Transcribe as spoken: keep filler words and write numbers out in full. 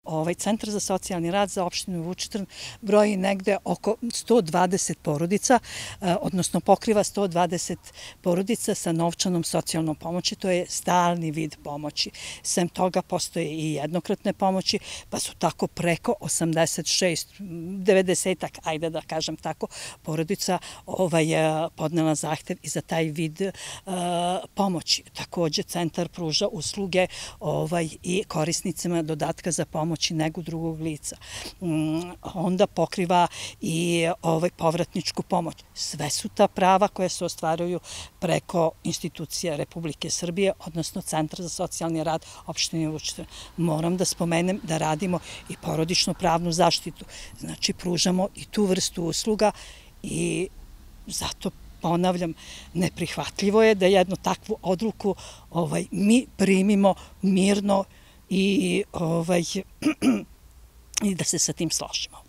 Ovaj centar za socijalni rad za opštinu Vučitrn broji negde oko sto dvadeset porodica, odnosno pokriva sto dvadeset porodica sa novčanom socijalnom pomoći. To je stalni vid pomoći. Sem toga postoje i jednokratne pomoći, pa su tako preko osamdeset šest, devedesetak, ajde da kažem tako, porodica podnela zahtev i za taj vid pomoći. Takođe, centar pruža usluge i korisnicima dodatka za pomoć i negu drugog lica. Onda pokriva i povratničku pomoć. Sve su ta prava koje se ostvaruju preko institucija Republike Srbije, odnosno Centra za socijalni rad opštine Vučitrn. Moram da spomenem da radimo i porodičnu pravnu zaštitu. Znači, pružamo i tu vrstu usluga i zato ponavljam, neprihvatljivo je da jednu takvu odluku mi primimo mirno i da se sa tim složimo.